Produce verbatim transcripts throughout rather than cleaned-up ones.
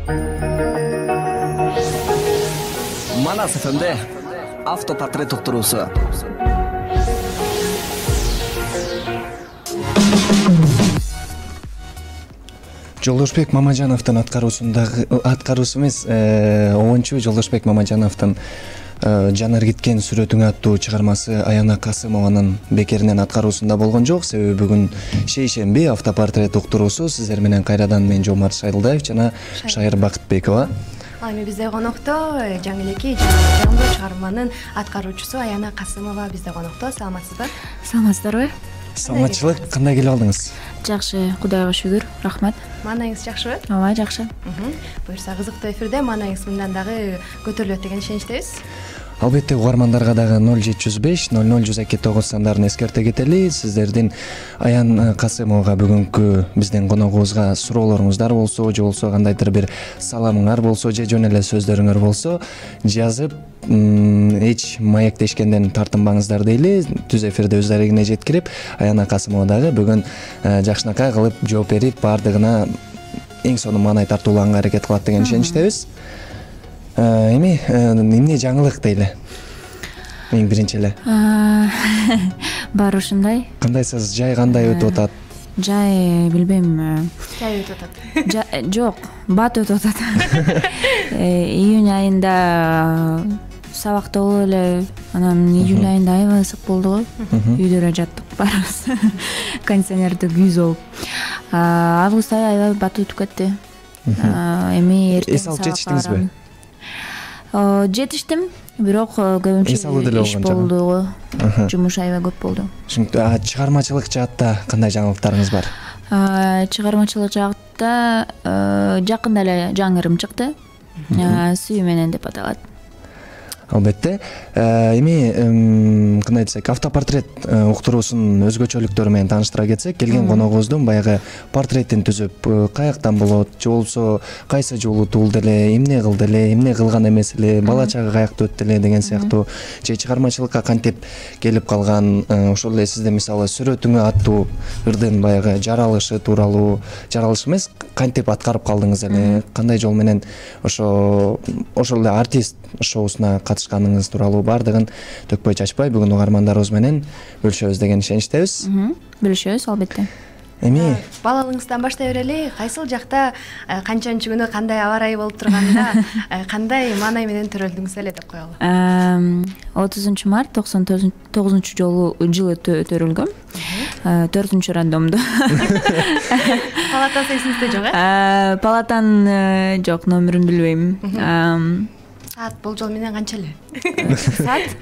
Манас эф эмде автопортрет уктуруусу. Жолдошбек Мамажановдун аткаруусундагы аткаруусу эмес, онунчу Жолдошбек Мамажановдун Жанар кеткен сүрөтүңө аттуу чыгармасы Аяна Касымованын бекеринен аткаруусунда болгон жок. Себеби бүгүн шейшемби автопортрет уктуруусу. Сиздер менен кайрадан мен Жомарт Шайылдаев жана Шайыр Бакытбекова. Ал эми бизде конокто жаңы элеки жаңы чыгарманын аткаруучусу Аяна Касымова бизде конокто. Саламатсызбы? Саламатсыздарбы? Саламатчылык, кандай келип алдыңыз? Жакшы, Кудайга шүгүр, рахмат. Маанайыңыз жакшыбы? Ооба, жакшы. Буюрса кызыктуу эфирде маанайыңыз мындан дагы көтөрүлөт деген ишеничтебиз. Албетте угармандарга дагы ноль жети жүз беш ноль ноль жүз эки тогуз сандарын эскерте кетели. Сиздердин Аян Касымовага бүгүнкү биздин коногубузга суроолоруңуздар болсо, же болсо кандайдыр бир саламыңар болсо, же жөн эле сөздөрүңөр болсо, жазып эч маектешкенден тартынбаңыздар дейли. Түз эфирде өз дарегине жеткирип, Аяна Касымова дагы бүгүн жакшынакай кылып жооп берип, баардыгына эң сонун маанай тартуулаганга аракет кылат деген ишеничтебиз. Эми эмне жаңылык дейли? Эң биринчи эле. Баары ушундай. Кандайсыз? Жай кандай өтүп атат? Жай билбейм. Жай өтүп атат. Жок, бат өтүп атат. Июнь айында сабакта болуп эле, анан июль айында аябай ысык болду го. Үйдө эле жаттык баарыбыз. Кондиционерди күйүз болуп. Август айы аябай бат өтүп кетти. Эми эртең эс алып жетиштиңизби? Жетиштим, бирок көбүнчө иш болду го. Жумуш аябай көп болду. Чыгармачылык жаатта кандай жаңылыктарыңыз бар? Чыгармачылык жаатта жакында эле жаңы ырым чыкты. Сүй менен деп аталат. Албетте. Эми кандай десек, автопортрет уктуруусунун өзгөчөлүктөрү менен тааныштыра кетсек, келген коногубуздун баягы портретин түзүп, каяктан болот, же болсо кайсы жолу туулду эле, эмне кылды эле, эмне кылган эмес эле, бала чагы каякта өттү эле деген сыяктуу, же чыгармачылыкка кантип келип калган, ошол эле сизде мисалы сүрөтүңө аттуу ырдын баягы жаралышы тууралуу, жаралыш эмес, кантип аткарып калдыңыз эле, кандай жол менен ошо ошол эле артист шоусуна катышканыңыз тууралуу баардыгын төкпөй чачпай бүгүн угармандарыбыз менен бөлүшөбүз деген ишеничтебиз. Бөлүшөбүз, албетте. Эми балалыгыңыздан баштай берели, кайсыл жакта канчанчы күнү кандай аба ырайы болуп турганда кандай маанай менен төрөлдүңүз эле деп коелу. отузунчу март токсон тогузунчу жолу жылы төрөлгөм. төртүнчү рандомду. Палатасы эсиңизде жок э? Палатанын жок, номерин билбейм. Саат болжол менен канча эле? Саат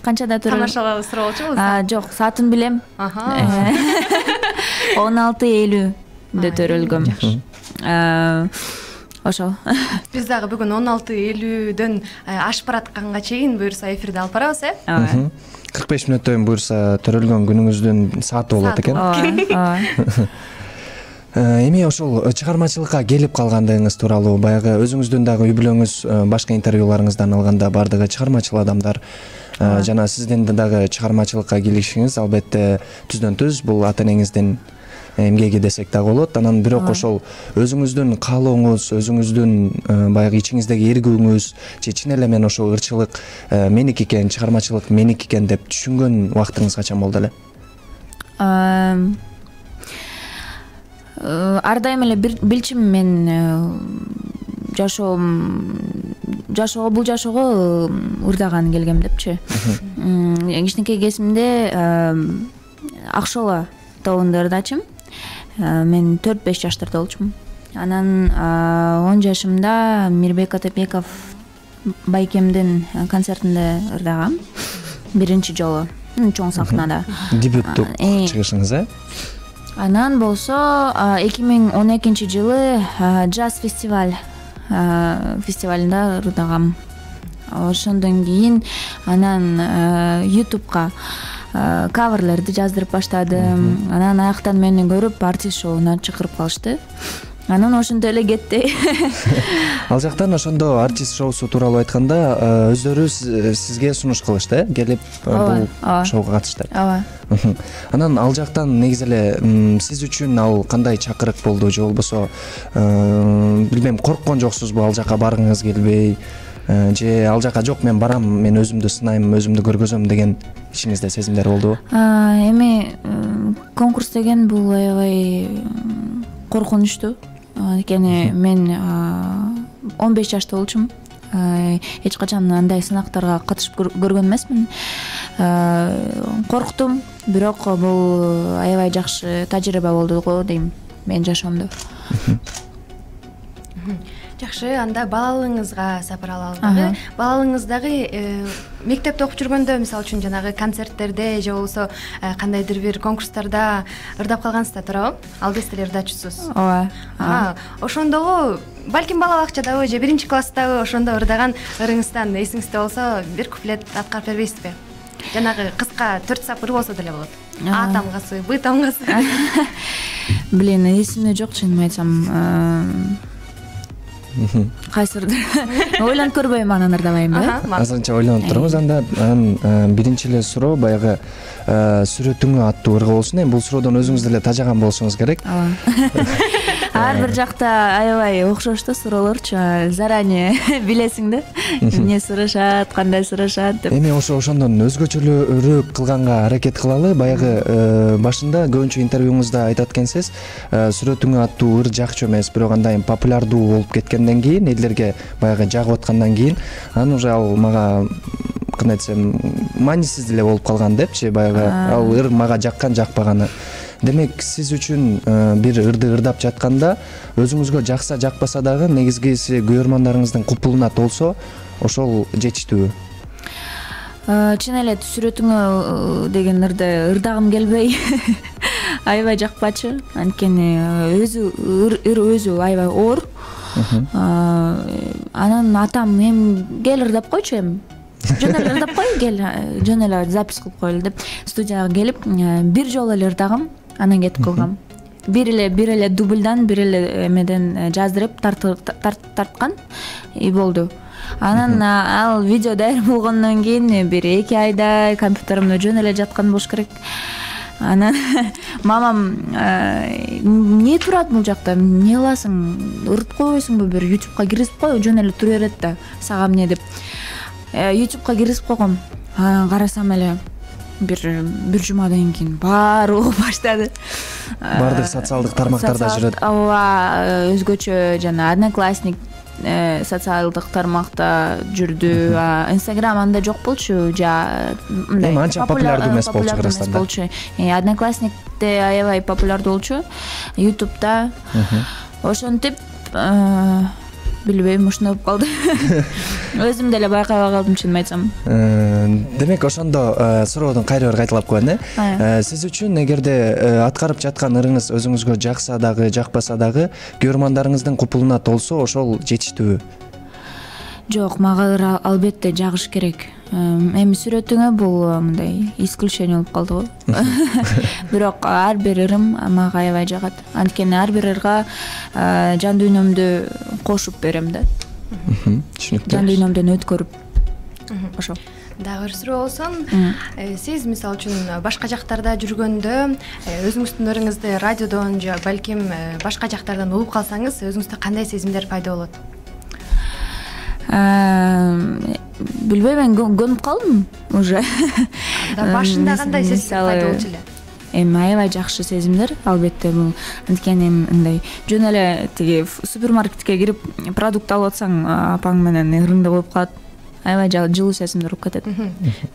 канчада төрөлгөм? Тамашалап суроолчу болсо. Жок, саатын билем. он алты элүүдө төрөлгөм. Ошол. Биз дагы бүгүн он алты элүүдөн ашып баратканга чейин буюрса эфирди алып барабыз, э? Ооба. кырк беш мүнөттөн буюрса төрөлгөн күнүңүздүн сааты болот экен. Ооба. Эми ошол чыгармачылыкка келип калгандыгыңыз тууралуу баягы өзүңүздүн дагы үй бүлөңүз башка интервьюларыңыздан алганда баардыгы чыгармачыл адамдар жана сиздин дагы чыгармачылыкка келишиңиз албетте түздөн түз бул ата энеңиздин эмгеги десек дагы болот. Анан бирок ошол өзүңүздүн каалооңуз, өзүңүздүн баягы ичиңиздеги эргүүңүз же чын эле мен ошол ырчылык меники экен, чыгармачылык меники экен деп түшүнгөн убактыңыз качан болду эле? Ар дайым эле билчүмүн мен жашоом жашоого бул жашоого ырдаган келгем депчи. Кичинекей кезимде Акшола тобунда ырдачым. Мен төрт беш жаштарда болчумун. Анан он жашымда Мирбек Атабеков байкемдин концертинде ырдагам. Биринчи жолу чоң сахнада. Дебюттук чыгышыңыз, э? Анан болсо эки миң он экинчи жылы джаз фестиваль фестивалында ырдагам. Ошондон кийин анан ютубка каверлерди жаздырып баштадым. Анан аяктан мени көрүп артист шоуна чакырып калышты. анан ошентип эле кетти. Ал жактан ошондо артист шоусу тууралуу айтканда өздөрү сизге сунуш кылышты э келип бул шоуга катышты. Ооба. Анан ал жактан негизи эле сиз үчүн ал кандай чакырык болду же болбосо билбейм корккон жоксузбу ал жака баргыңыз келбей же ал жака жок мен барам мен өзүмдү сынайм өзүмдү көргөзөм деген ичиңизде сезимдер болдубу? Эми конкурс деген бул аябай коркунучтуу. Анткени мен он беш жашта болчумун. Эч качан андай сынактарга катышып көргөн эмесмин. Корктум, бирок бул аябай жакшы тажрыйба болду го дейм менин жашоомдо. Жакшы, анда балалыгыңызга сапар алалы дагы. Балалыгыңыз дагы мектепте окуп жүргөндө, мисалы үчүн жанагы концерттерде же болбосо кандайдыр бир конкурстарда ырдап калгансыз да, туурабы? Алдыңыз деле ырдачусуз. Ооба. Ошондогу балким бала бакчадагы же биринчи класстагы ошондо ырдаган ырыңыздан эсиңизде болсо бир куплет аткарып бербейсизби? Жанагы кыска төрт сап ыр болсо деле болот. А тамгасы, Б тамгасы. Блин, эсимде жок, чынын айтсам. Кайсырдыр ойлонуп көрбөйм, анан ырдабайм да. Азырынча ойлонуп туруңуз. Анда анан биринчи эле суроо баягы сүрөтүңө аттуу ырга болсун. Эми бул суроодон өзүңүз деле тажаган болушуңуз керек. Ар бир жакта аябай окшош да суроолорчу, заранее билесиң да эмне сурашат, кандай сурашат деп. Эми ошо ошондон өзгөчөлүүрөөк кылганга аракет кылалы. Баягы башында көбүнчө интервьюңузда айтат экенсиз, сүрөтүңө аттуу ыр жакчу эмес, бирок андан популярдуу болуп кеткенден кийин, элдерге баягы жагып аткандан кийин, анан уже ал мага кандай десем, маанисиз деле болуп калган депчи, баягы ал ыр мага жаккан жакпаганы. Демек, сиз үчүн бир ырды ырдап жатканда өзүңүзгө жакса жакпаса дагы негизгиси көрөрмандарыңыздын купулуна толсо, ошол жетиштүүбү? Чын эле сүрөтүңө деген ырды ырдагым келбей аябай жакпачу. Анткени өзү ыр өзү аябай оор. Анан атам эми кел ырдап койчу, эми жөн эле ырдап кой, кел жөн эле запись кылып коелу деп студияга келип бир жолу эле ырдагам, анан кетип калгам. Бир эле бир эле дубльдан, бир эле эмеден жаздырып тарткан и болду. Анан ал видео даяр болгондон кийин бир эки айда компьютеримде жөн эле жаткан болуш керек. Анан мамам эмне турат бул жакта, эмне кыласың, ырдап койбойсуңбу, бир ютубка киргизип кой, жөн эле тура берет да, сага эмне деп. ютубка киргизип койгом. Анан карасам эле бир бир жумадан кийин баары угуп баштады. Баардык социалдык тармактарда жүрөт. Ооба, өзгөчө жана Одноклассник социалдык тармакта жүрдү. Инстаграм анда жок болчу, жа мындай. Эми анча популярдуу эмес болчу Кыргызстанда. Одноклассникте аябай популярдуу болчу. Ютубта ошентип билбейм, ушундай болуп калды. Өзүм деле байкабай калдым, чынын айтсам. Демек, ошондо суроодон кайра бир кайталап коеюн э. Сиз үчүн эгерде аткарып жаткан ырыңыз өзүңүзгө жакса дагы, жакпаса дагы, көрөрмандарыңыздын купулуна толсо, ошол жетиштүүбү? Жок, мага ыр албетте жагыш керек. Эми сүрөтүңө бул мындай исключение болуп калды го. Бирок ар бир ырым мага аябай жагат. Анткени ар бир ырга жан дүйнөмдү кошуп берем да. Түшүнүктүү. Жан дүйнөмдөн өткөрүп. Ошо. Дагы бир суроо болсун. Сиз мисалы үчүн башка жактарда жүргөндө өзүңүздүн ырыңызды радиодон же балким башка жактардан угуп калсаңыз, өзүңүздө кандай сезимдер пайда болот? Билбейм, мен көнүп калдым уже. Башында кандай сезимдер пайда болчу эле? Эми аябай жакшы сезимдер, албетте бул. Анткени мындай жөн эле тиги супермаркетке кирип продукт алып атсаң, апаң менен ырыңды коюп калат. Аябай жылуу сезимдер болуп кетет.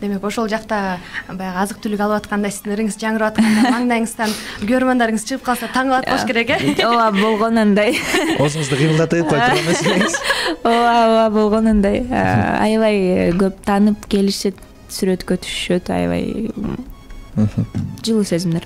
Демек, ошол жакта баягы азык түлүк алып атканда сиздин ырыңыз жаңырап атканда маңдайыңыздан көрөрмандарыңыз чыгып калса таң калат болуш керек э? Ооба, болгонундай. Оозуңузду кыймылдатып кой турган эмес. Ооба, ооба, болгонундай. Аябай көп таанып келишет, сүрөткө түшүшөт, аябай жылуу сезимдер.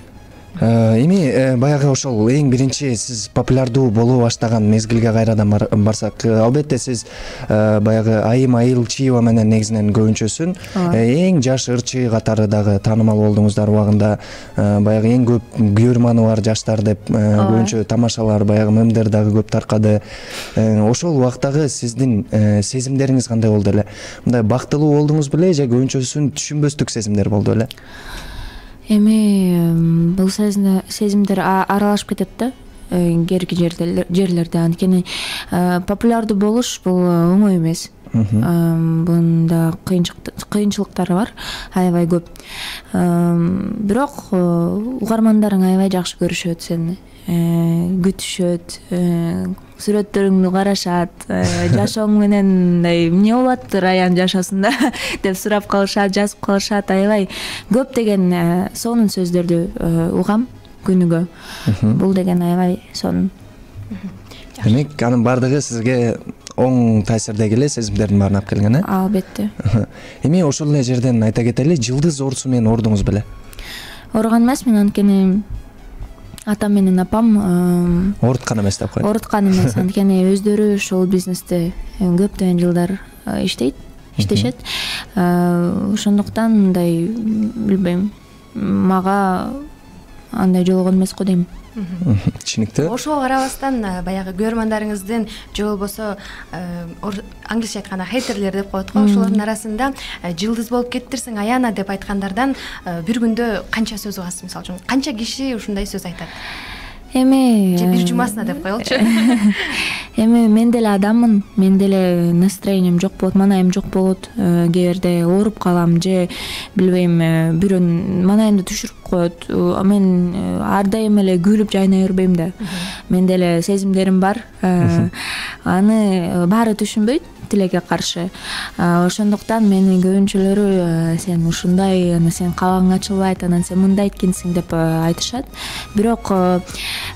Эми баягы ошол эң биринчи сиз популярдуу боло баштаган мезгилге кайрадан барсак, албетте сиз баягы Айым Айылчиева менен негизинен көбүнчөсүн эң жаш ырчы катары дагы таанымал болдуңуздар убагында. Баягы эң көп көрманы бар жаштар деп көбүнчө тамашалар, баягы мемдер дагы көп таркады. Ошол убактагы сиздин сезимдериңиз кандай болду эле? Мындай бактылуу болдуңуз беле же көбүнчөсүн түшүнбөстүк сезимдер болду эле? Эми бул сезимдер аралашып кетет да керки жерлерде. Анткени популярдуу болуш бул оңой эмес. Бунда кыйынчылыктары бар, аябай көп. Бирок угармандарың аябай жакшы көрүшөт сени, күтүшөт, сүрөттөрүңдү карашат, жашооң менен мындай эмне болуп атты Раян жашоосунда деп сурап калышат, жазып калышат. Аябай көп деген сонун сөздөрдү угам күнүгө. Бул деген аябай сонун. Демек, анын баардыгы сизге оң таасирде келе, сезимдердин баарын алып келген, э? Албетте. Эми ошол эле жерден айта кетели, жылдыз оорусу менен оорудуңуз беле? Ооруган эмесмин, анткени атам менен апам ооруткан эмес деп коет. Ооруткан эмес, анткени өздөрү ушул бизнесте көптөгөн жылдар иштейт, иштешет. Ошондуктан мындай билбейм, мага андай жолугон эмес го дейм. Түшүнүктүү. Ошого карабастан баягы көрөрмандарыңыздын же болбосо англисче айтканда хейтерлер деп коет го, ошолордун арасында жылдыз болуп кеттирсиң Аяна деп айткандардан бир күндө канча сөз угасыз? Мисалы үчүн канча киши ушундай сөз айтат? Эми же бир жумасына деп коелучу. Эми мен деле адаммын, мен деле настроением жок болот, манайым жок болот, кээ бирде ооруп калам же билбейм, бирөө манайымды түшүрүп коет. Мен ар дайым эле күлүп жайнай бербейм да. Мен деле сезимдерим бар. Аны баары түшүнбөйт тилекке каршы. Ошондуктан мени көбүнчөлөрү сен ушундай, аны сен кабагың ачылбайт, анан сен мындай эткенсиң деп айтышат. Бирок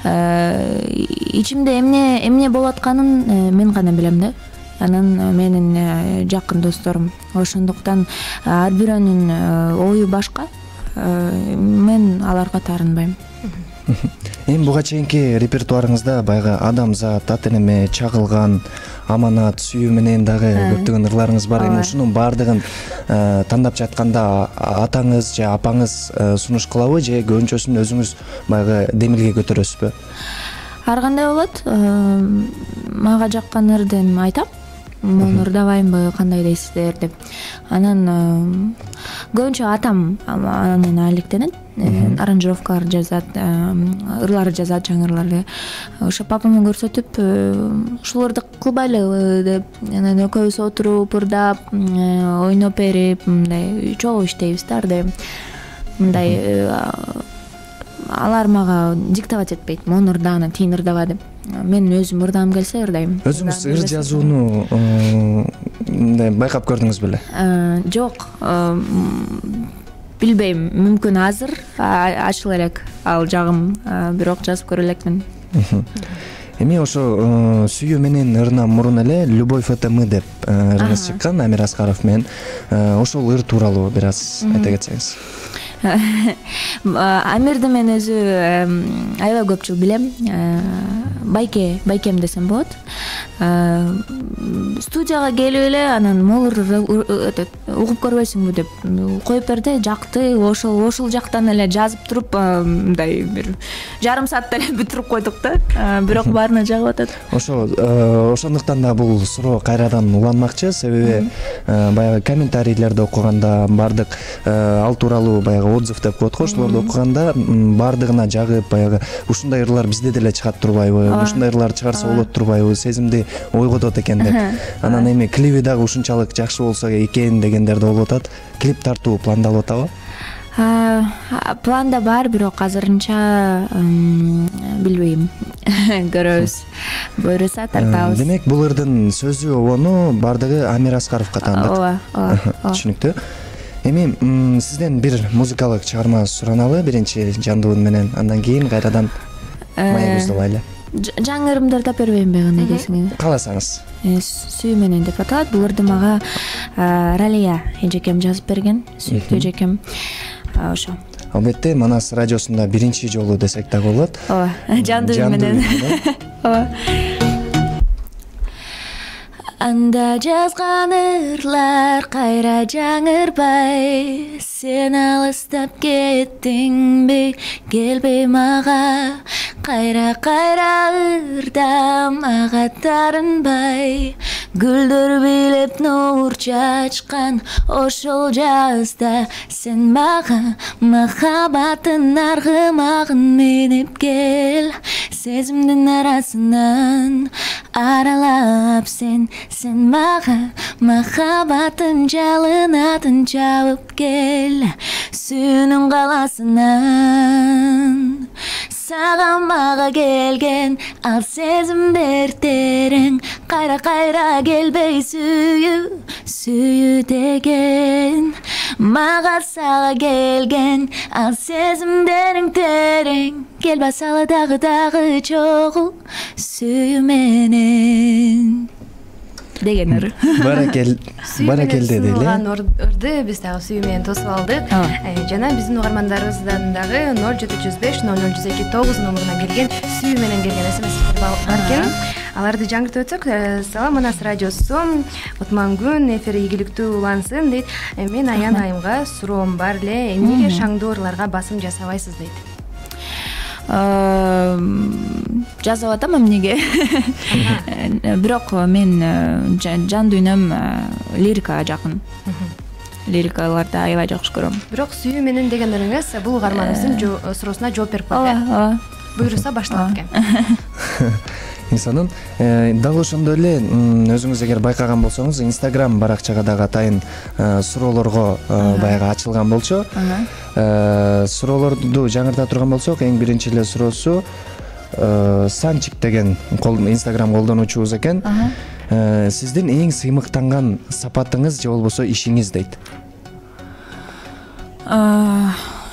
ичимде эмне эмне болуп атканын мен гана билем да. Анан менин жакын досторум. Ошондуктан ар бирөөнүн ою башка. Мен аларга таарынбайм. Эми буга чейинки репертуарыңызда баягы Адамзат, Ата эне, Чагылган, Аманат, Сүйүү менен дагы көптөгөн ырларыңыз бар. Эми ушунун баардыгын тандап жатканда атаңыз же апаңыз сунуш кылабы же көбүнчөсүн өзүңүз баягы демилге көтөрөсүзбү? Ар кандай болот? Мага жаккан ырдын айтам. Муну ырдабаймбы, кандай дейсиздер деп. Анан көбүнчө атам анан алектенет, аранжировкалар жазат, ырлар жазат, жаңы ырларды. Ошо папама көрсөтүп, ушуларды кылбайлы деп, анан экөөбүз отуруп, ырдап, ойноп берип, мындай чогуу иштейбиз да, ырдайм. Мындай алар мага диктовать этпейт, мону ырдааны, тиин ырдаба деп. Мен өзүм ырдагым келсе ырдайм. Өзүңүз ыр жазууну мындай байкап көрдүңүз беле? Жок, билбейм, мүмкүн азыр ачыла элек ал жагым, бирок жазып көрө элекмин. Эми ошо Сүйүү менен ырынан мурун эле Любовь это мы деп ырыңыз чыккан Амир Аскаров менен. Ошол ыр тууралуу бир аз айта кетсеңиз. Амирди мен өзү аябай көп жыл билем. Байке, байкем десем болот. Студияга келип эле анан молур угуп көрбөйсүңбү деп коюп берди, жакты. Ошол ошол жактан эле жазып туруп, мындай бир жарым саатта эле бүтүрүп койдук да. Бирок баарына жагып атат. Ошо ошондуктан да бул суроо кайрадан уланмакчы, себеби баягы комментарийлерди окуганда бардык ал тууралуу баягы отзыв деп коет го, ошолорду окуганда баардыгына жагып, баягы ушундай ырлар бизде деле чыгат турбайбы, ушундай ырлар чыгарса болот турбайбы, сезимди ойготот экен деп. Анан эми клиби дагы ушунчалык жакшы болсо экен дегендер да болуп атат. Клип тартуу пландалып атабы? Планда бар, бирок азырынча билбейм. Көрөбүз. Буйруса тартабыз. Демек, бул ырдын сөзү обону баардыгы Амир Аскаровго таандык. Ооба, ооба. Түшүнүктүү. Эми сизден бир музыкалык чыгарма сураналы, биринчи жандуу үн менен, андан кийин кайрадан маегибизди улайлы. Жаңы ырымдар тап бербеймби, кандай дейсиңиз? Кааласаңыз. Сүйүү менен деп аталат. Бул ырды мага Ралия эжекем жазып берген, сүйүктүү эжекем. Ошо. албетте Манас радиосунда биринчи жолу десек дагы болот. ооба, жандуу менен. Ооба. Анда жазган ырлар кайра жаңырбай, сен алыстап кеттиңби, келбей мага, кайра-кайра ырдам ага тарынбай, гүлдөр билеп нур чачкан ошол жазда, сен мага махаббаттын аргымагын минип кел, сезимдин арасынан аралап сен Сен мага махаббаттын жалынатын жабып кел, сүйүүнүн каласынан. Сага мага келген ал сезимдер терең, кайра-кайра келбей сүйүү, сүйүү деген. Мага сага келген ал сезимдериң терең, келбасалы дагы дагы чогуу, сүйүү менен. Деген ыр. Баракел, баракел деди эле. Ырды биз дагы сүйүү менен тосуп алдык. Жана биздин угармандарыбыздан дагы ноль жети жүз беш ноль ноль жүз эки тогуз номуруна келген сүйүү менен келген смстер бар экен. Аларды жаңыртып өтсөк, салам Манас радиосу, утман күн, эфири ийгиликтүү улансын дейт. Мен Аян айымга суроом бар эле, эмнеге шаңдуу ырларга басым жасабайсыз дейт. Жазып атам эмнеге. Бирок мен жан дүйнөм лирикага жакын. Лирикаларды аябай жакшы көрөм. Бирок сүйүү менен деген ырыңыз бул угарманыбыздын суроосуна жооп берип койду. Ооба. Буйруса башталат экен. Инсанын дал ошондой эле өзүңүз эгер байкаган болсоңуз, Instagram баракчага дагы атайын суроолорго баягы ачылган болчу. Суроолорду жаңырта турган болсок, эң биринчи эле суроосу Санчик деген Instagram колдонуучубуз экен. Сиздин эң сыймыктанган сапатыңыз же болбосо ишиңиз дейт.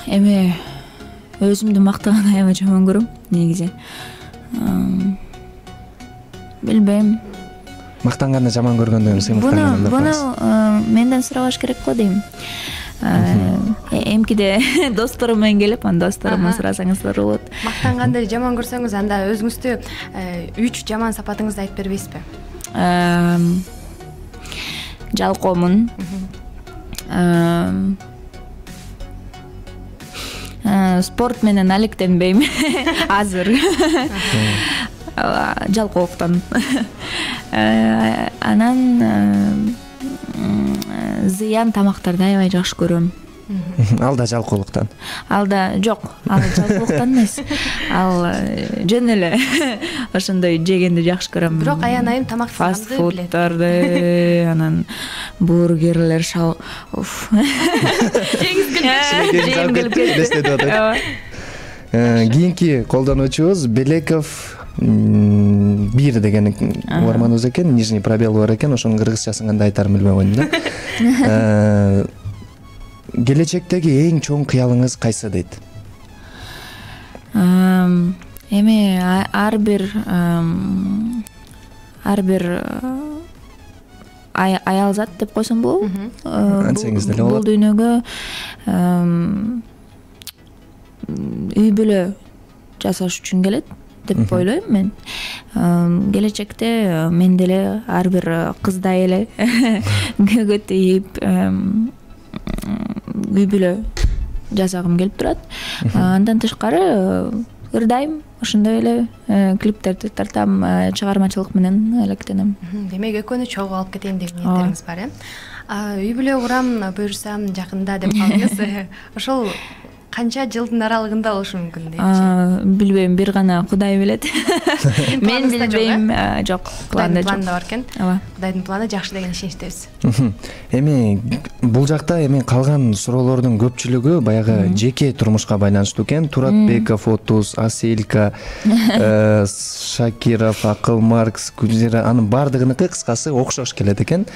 Эми өзүмдү мактаганды аябай жаман көрөм, негизи. Билбейм. Мактанганды жаман көргөндөн сыймыктанган. Буну менден сурабаш керек го дейм. Эмкиде досторум менен келип, анда досторума сурасаңыздар болот. Мактанганды жаман көрсөңүз, анда өзүңүздү үч жаман сапатыңызды айтып бербейсизби? Жалкоомун. Спорт менен алектенбейм азыр. Жалкоолуктан. Анан зыян тамактарды аябай жакшы көрөм. Ал да жалкоолуктан. Ал да жок, ал жалкоолуктан эмес. Ал жөн эле ошондой жегенди жакшы көрөм. Бирок Аян айым тамак фаст фуддарды, анан бургерлер, шал. Жеңиз келип. Кийинки колдонуучубуз Белеков бир деген угарманыбыз экен, нижний пробел бар экен, ошонун кыргызчасын кандай айтарын билбей койдум да. Келечектеги эң чоң кыялыңыз кайсы дейт? Эми ар бир ар бир аял зат деп койсом болобу? Антсеңиз деле болот. Бул дүйнөгө үй бүлө жасаш үчүн келет деп ойлойм мен. Келечекте мен деле ар бир кыздай эле көгөт ийип үй бүлө жасагым келип турат. Андан тышкары ырдайм, ошондой эле клиптерди тартам, чыгармачылык менен алектенем. Демек экөөнү чогуу алып кетейин деген ниеттериңиз бар, э? Үй бүлө курам, буюрсам жакында деп калдыңыз. Ошол канча жылдын аралыгында болушу мүмкүн дейчи? Билбейм, бир гана Кудай билет. Мен билбейм, жок, планда жок. Планда бар экен. Ооба. Кудайдын планы жакшы деген ишеничтебиз. Эми бул жакта эми калган суроолордун көпчүлүгү баягы жеке турмушка байланыштуу экен. Туратбеков отуз, Аселька, Шакиров, Акыл Маркс, Гүлзира, анын бардыгыныкы кыскасы окшош келет экен.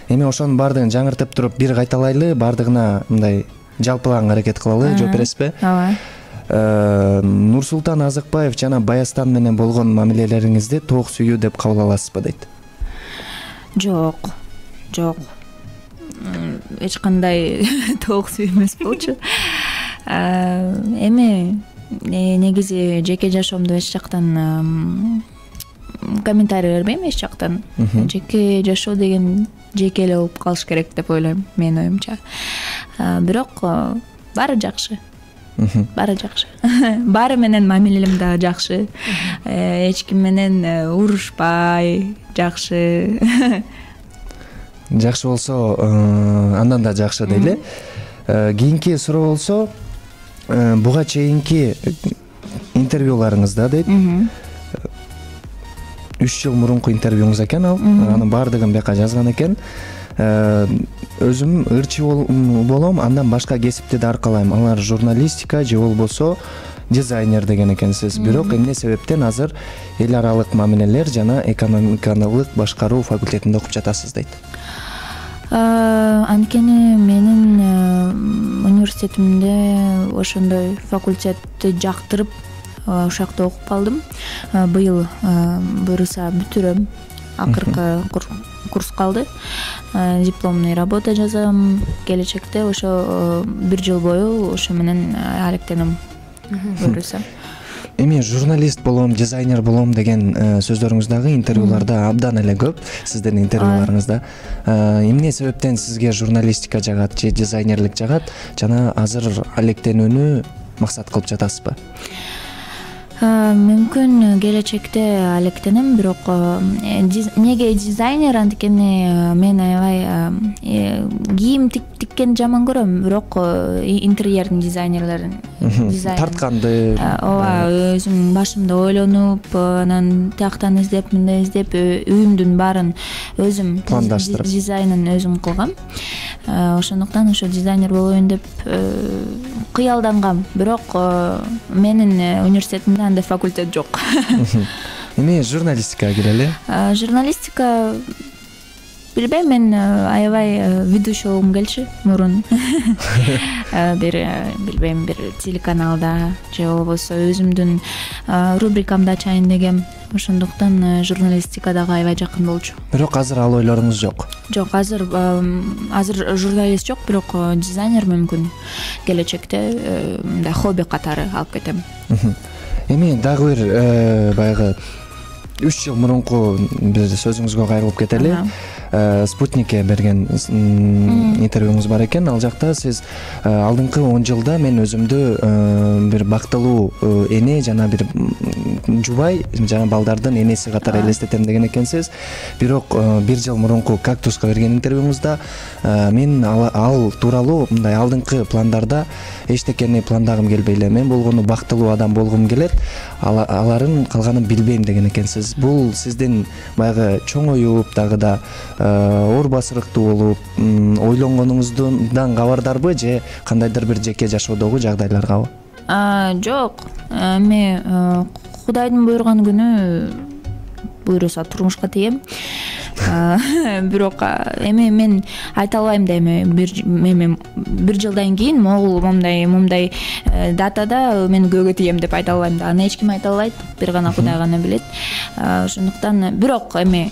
Эми ошонун бардыгын жаңыртып туруп бир кайталайлы, бардыгына мындай жалпылаң аракет кылалы, жооп бересизби? Ооба. Нурсултан Азыкбаев жана Баястан менен болгон мамилелериңизди тоок сүйүү деп кабыл аласызбы дейт? Жок. Жок. Эч кандай тоок сүйүү эмес болчу. эми негизи жеке жашоомду эч жактан комментарий бербейм, эч жактан. Жеке жашоо деген жеке эле болуп калыш керек деп ойлойм, менин оюмча. Бирок баары жакшы. Баары жакшы. Баары менен мамилем да жакшы. Эч ким менен урушпай, жакшы. Жакшы болсо, андан да жакшы дейли. Кийинки суроо болсо, буга чейинки интервьюларыңызда дейт. үч жыл мурунку интервьюңуз экен ал. Анын баардыгын бияка жазган экен. Өзүм ырчы болом, андан башка кесипти да аркалайм. Алар журналистика же болбосо дизайнер деген экенсиз. Бирок эмне себептен азыр эл аралык мамилелер жана экономикалык башкаруу факультетинде окуп жатасыз дейт. Анткени менин университетимде ошондой факультетти жактырып ошол жакта окуп калдым. Быйыл буюрса бүтүрөм. Акыркы курс калды. Дипломный работа жазам. Келечекте ошо бир жыл бою ошо менен алектенем. Буюрса. Эми журналист болом, дизайнер болом деген сөздөрүңүздагы интервьюларда абдан эле көп, сиздин интервьюларыңызда. Эмне себептен сизге журналистика жагат же дизайнерлик жагат жана азыр алектенүүнү максат кылып жатасызбы? Мүмкүн келечекте алектенем, бирок неге дизайнер, анткени мен аябай кийим тиккенди жаман көрөм, бирок интерьердин дизайнерлерин тартканды, ооба, өзүм башымда ойлонуп, анан тияктан издеп, мындай издеп, үйүмдүн баарын өзүм пландаштырып, дизайнын өзүм кылгам. Ошондуктан ошо дизайнер болоюн деп кыялдангам, бирок менин университетимде андай факультет жок. Эми журналистикага кирели. Журналистика билбейм, мен аябай ведущий болгум келчү мурун. Бир билбейм, бир телеканалда же болбосо өзүмдүн рубрикамды ачайын дегем. Ошондуктан журналистика дагы аябай жакын болчу. Бирок азыр ал ойлоруңуз жок. Жок, азыр азыр журналист жок, бирок дизайнер мүмкүн келечекте мындай хобби катары алып кетем. Эми дагы бир баягы үч жыл мурунку бир сөзүңүзгө кайрылып кетели. Спутникке берген интервьюңуз бар экен. Ал жакта сиз алдыңкы он жылда мен өзүмдү бир бактылуу эне жана бир жубай жана балдардын энеси катары элестетем деген экенсиз. Бирок бир жыл мурунку Кактуска берген интервьюңузда мен ал тууралуу мындай алдыңкы пландарда эчтекени пландагым келбей эле, мен болгону бактылуу адам болгум келет, аларын калганын билбейм деген экенсиз. Бул сиздин баягы чоңоюп дагы да оор басырыктуу болуп ойлонгонуңуздан кабардарбы же кандайдыр бир жеке жашоодогу жагдайларгабы? Жок, эми Кудайдын буйруган күнү буйруса турмушка тием. Бирок эми мен айта албайм да, эми бир жылдан кийин могул момундай момундай датада мен көөгө тием деп айта албайм да. Аны эч ким айта албайт, бир гана Кудай гана билет. Ошондуктан бирок эми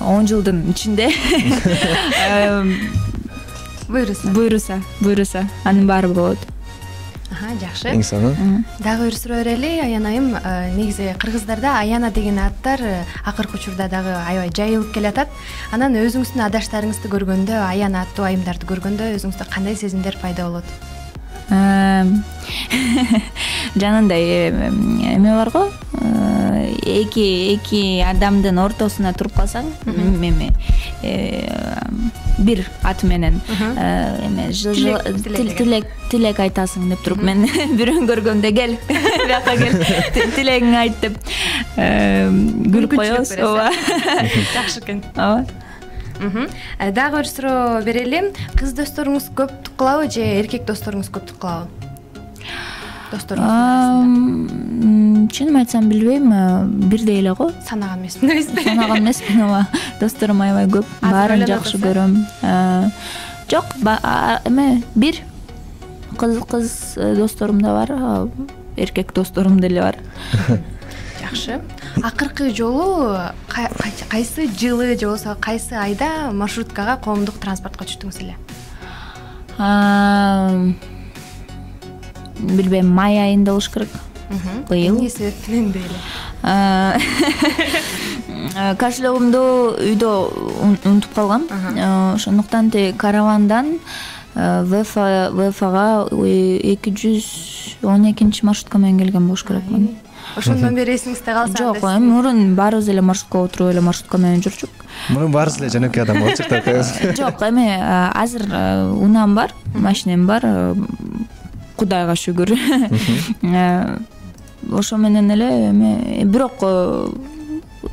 он жылдын ичинде буйруса буйруса буйруса анын баары болот. Жакшы. Эң сонун. Дагы бир суроо берели. Аян айым, негизи кыргыздарда аяна деген аттар акыркы учурда дагы аябай жайылып келатат. Анан өзүңүздүн адаштарыңызды көргөндө, аяна аттуу айымдарды көргөндө өзүңүздө кандай сезимдер пайда болот? Жанагындай эме барго, эки эки адамдын ортосуна туруп калсаң, эме бир ат менен эме тилек тилек айтасың деп туруп, мен бирөөнү көргөндө кел бияка кел тилегиңди айт деп күлүп коебуз. Ооба, жакшы экен. Ооба. Дагы бир суроо берели. Кыз досторуңуз көп кылабы же эркек досторуңуз көп кылабы? Досторуңуз? Чынын айтсам билбейм, бирдей эле го. Санаган эмесмин, эмеспи? Санаган эмесмин, ооба. Досторум аябай көп, баарын жакшы көрөм. Жок, эме бир кыз кыз досторум да бар, эркек досторум деле бар. Жакшы. Акыркы жолу кайсы жылы же болбосо кайсы айда маршруткага коомдук транспортко түштүңүз эле? билбейм, май айында болуш керек. Быйыл. Эмне себептен дейли? Кошелегимди үйдө унутуп калгам. Ошондуктан каравандан ВФга эки жүз он экинчи маршрутка менен келген болуш керекмин. Ошондон бери эсиңизде калса. Жок, эми мурун баарыбыз эле маршрутка отуруп эле маршрутка менен жүрчүк. Мурун баарыбыз эле жөнөкөй адам болчук да. Жок, эми азыр унаам бар, машинем бар. Кудайга шүгүр. Ошо менен эле эми бирок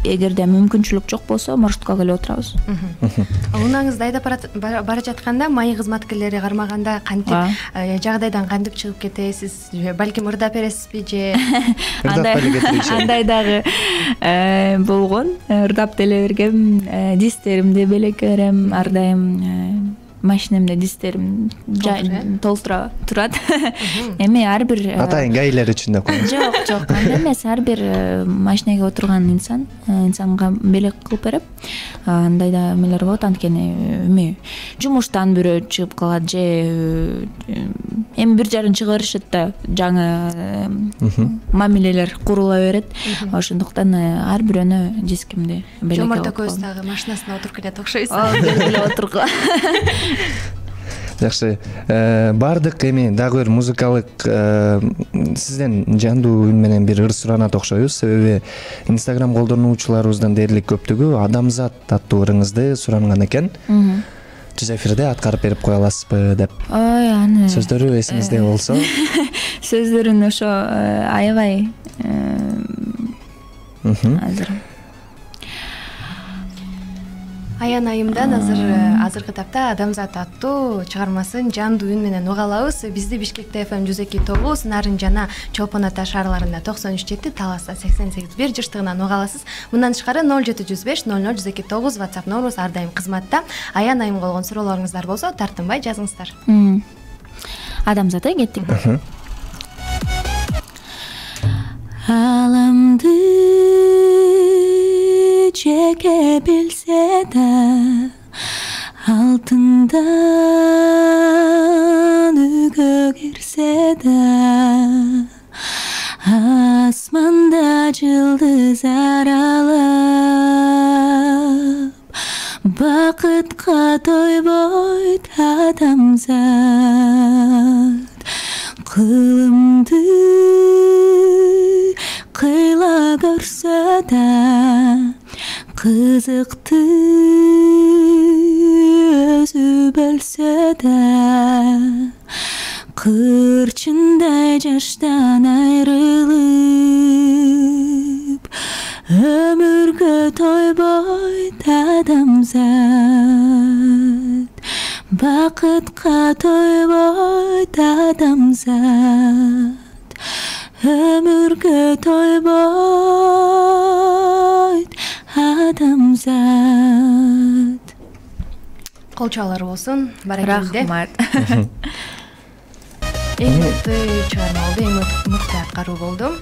эгерде мүмкүнчүлүк жок болсо маршрутка келип отурабыз. Унаңызды айдап бара жатканда майы кызматкерлери кармаганда кантип жагдайдан кантип чыгып кетесиз? Балким ырдап бересизби же? Андай дагы болгон. Ырдап деле бергем, дистеримди белекке берем, ар дайым машинемде дистерим толтура турат. Эми ар бир атайын гаилер үчүн деп коем. Жок, жок, андай эмес. Ар бир машинеге отурган инсан инсанга белек кылып берип, андай да эмелер болот. Анткени эми жумуштан бирөө чыгып калат же эми бир жарын чыга беришет да, жаңы мамилелер курула берет. Ошондуктан ар бирөөнө дискимди белекке. Жоморт экөөбүз дагы машинасына отуруп кетет окшойсуз. Ооба, отурган. Жакшы. Бардык эми дагы бир музыкалык сизден жандуу үн менен бир ыр суранат окшойбуз. Себеби Instagram колдонуучуларыбыздын дээрлик көптүгү Адамзат аттуу ырыңызды суранган экен. Түз эфирде аткарып берип кое аласызбы деп. Ой, аны. Сөздөрү эсиңизде болсо. Сөздөрүн ошо аябай азыр. Аян айымдан азыр азыркы тапта Адамзат аттуу чыгармасын жандуу үн менен уга алабыз. Бизди Бишкекте эф эм жүз эки тогуз, Нарын жана Чолпон Ата шаарларында токсон үч жети, Таласта сексен сегиз бир жыштыгынан уга аласыз. Мындан тышкары ноль жети жүз беш ноль ноль жүз эки тогуз WhatsApp номерубуз ар дайым кызматта. Аян айым болгон суроолоруңуздар болсо тартынбай жазыңыздар. Адамзатка кеттик. Аламды чеке билсе да, алтындан үйгө кирсе да, асманда жылдыз аралап, бакытка тойбойт адамзат. Кылымды кыйла көрсө да, кызыкты өзү бөлсө да, кырчындай жаштан айрылып, өмүргө тойбойт адамзат. Бакытка тойбойт адамзат. Өмүргө тойбойт адамзат. Кол чалар болсун. Баракелде. Рахмат. Эң мыкты чыгарма болду, эң мыкты аткаруу болду.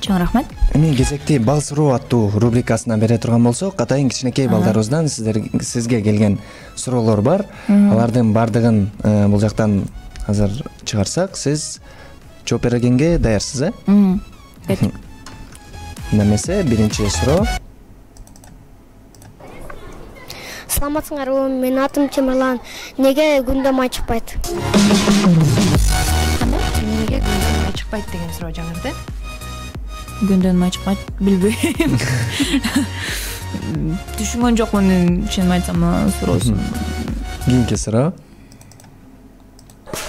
Чоң рахмат. Эми кезекти Бал суроо аттуу рубрикасына бере турган болсок, атайын кичинекей балдарыбыздан сиздер сизге келген суроолор бар. Алардын бардыгын бул жактан азыр чыгарсак, сиз жооп бергенге даярсыз, э? Кеттик. Немесе биринчи суроо. Саламатсыңарбы? Менин атым Чемирлан. Неге күндө май чыкпайт? Неге күндөн май чыкпайт деген суроо жаңырды. Күндөн май чыкпайт, билбейм. Түшүнгөн жокмун, чын айтсам, суроосун. Кийинки суроо.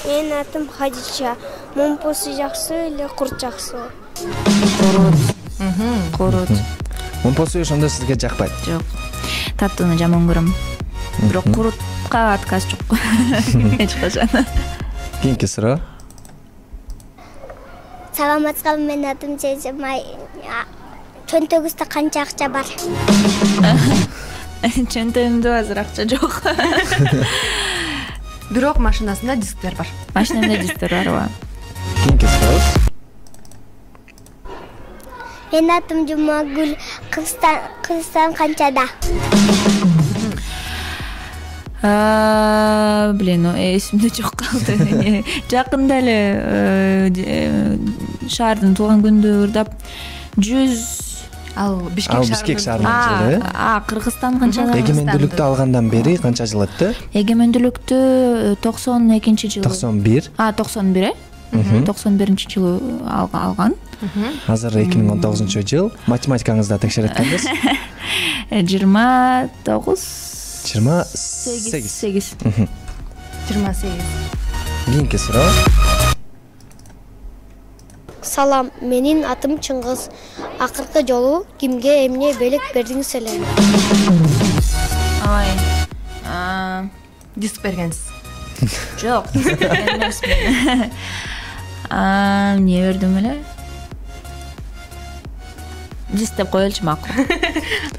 Менин атым Хадича. Момпосу жакшы эле курт жакшыбы? Корот. Корот. Момпосу ошондо сизге жакпайт? Жок. Таттууну жаман көрөм. Бирок курутка отказ жок. Эч качан. Кийинки суроо. Саламатсызбы? Менин атым Жежемай. Чөнтөгүздө канча акча бар? Чөнтөгүмдө азыр акча жок. Бирок машинасында дисктер бар. Машинамда дисктер бар, ооба. Кийинки суроо. Менин атым Жумагүл. Кыргызстан Кыргызстан канчада? Блин, эсимде жок калды. Жакында эле шаардын туулган күнүндө ырдап жүз ал Бишкек шаарында эле. А, Кыргызстан канча жыл? Эгемендүүлүктү алгандан бери канча жыл өттү? Эгемендүүлүктү токсон экинчи жылы. токсон бир. А, токсон бир, э? токсон биринчи жылы алган. Азыр эки миң он тогузунчу жыл. Математикаңызды текшере эткенбиз. жыйырма тогуз жыйырма сегиз. сегиз. жыйырма сегиз. Кийинки суроо. Салам, менин атым Чыңгыз. Акыркы жолу кимге эмне белек бердиңиз эле? Ай. Диск бергенсиз. Жок, эмесмин. А, эмне бердим эле? Диск деп коелучу макул.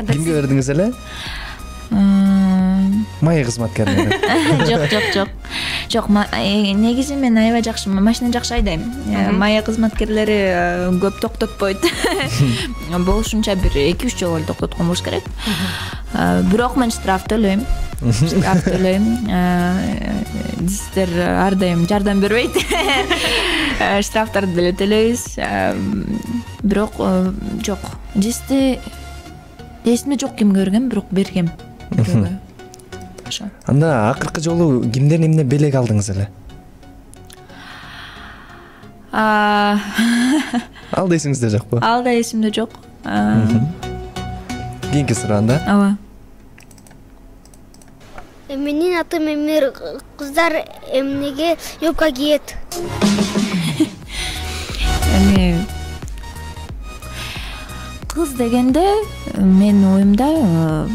Кимге бердиңиз эле? Майя кызматкерлери. Жок, жок, жок. Жок, негизи мен аябай жакшы машина жакшы айдайм. Майя кызматкерлери көп токтотпойт. Болушунча бир эки үч жолу эле токтоткон болуш керек. Бирок мен штраф төлөйм. Штраф төлөйм. Дистер ар дайым жардам бербейт. Штрафтарды деле төлөйбүз. Бирок жок. Дисти эсимде жок кимге берген, бирок бергем. Анда акыркы жолу кимден эмне белек алдыңыз эле? Ал да эсиңизде жокпу? Ал да эсимде жок. Кийинки суроо анда. Ооба. Менин атым Эмир. Кыздар эмнеге юбка кийет? Эми кыз дегенде менин оюмда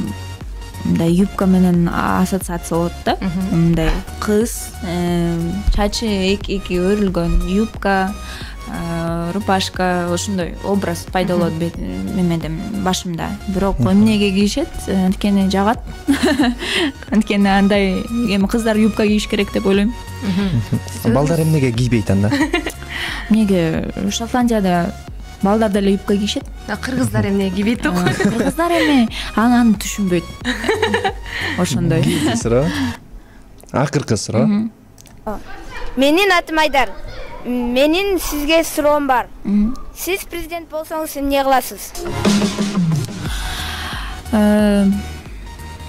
мындай юбка менен ассоциация болот да. Мындай кыз, чачы эки өрүлгөн юбка, рубашка, ошондой образ пайда болот мемеден башымда. Бирок эмнеге кийишет? Анткени жагат. Анткени андай эми кыздар юбка кийиш керек деп ойлойм. Балдар эмнеге кийбейт анда? Эмнеге Шотландияда балдар деле юбка кийишет. Кыргыздар эмне кийбейт да? Кыргыздар эми аны түшүнбөйт. Ошондой. Суроо. Акыркы суроо. Менин атым Айдар. Менин сизге суроом бар. Сиз президент болсоңуз эмне кыласыз?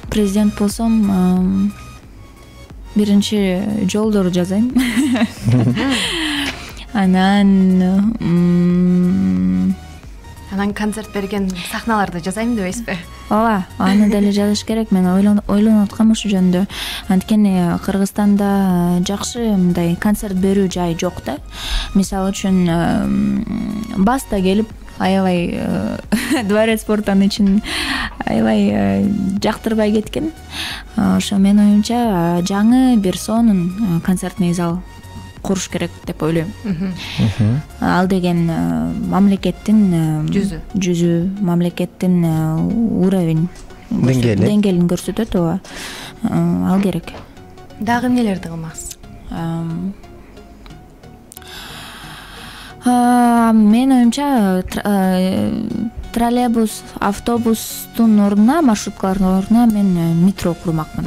Президент болсом биринчи жолдорду жасайм. Анан Анан концерт берген сахналарды жасайм дебейсизби? Ооба, аны деле жазыш керек. Мен ойлонуп аткам ошол жөнүндө. Анткени Кыргызстанда жакшы мындай концерт берүү жай жок да. Мисалы үчүн Баста келип аябай дворец спорттун ичин аябай жактырбай кеткен. Ошо менин оюмча жаңы бир сонун концертный зал куруш керек деп ойлойм. Ал деген мамлекеттин жүзү, жүзү, мамлекеттин уровень деңгээли деңгээлин көрсөтөт, ооба. Ал керек. Дагы эмнелерди кылмаксыз? Менин оюмча троллейбус, автобустун ордуна, маршруткалардын ордуна мен метро курмакмын.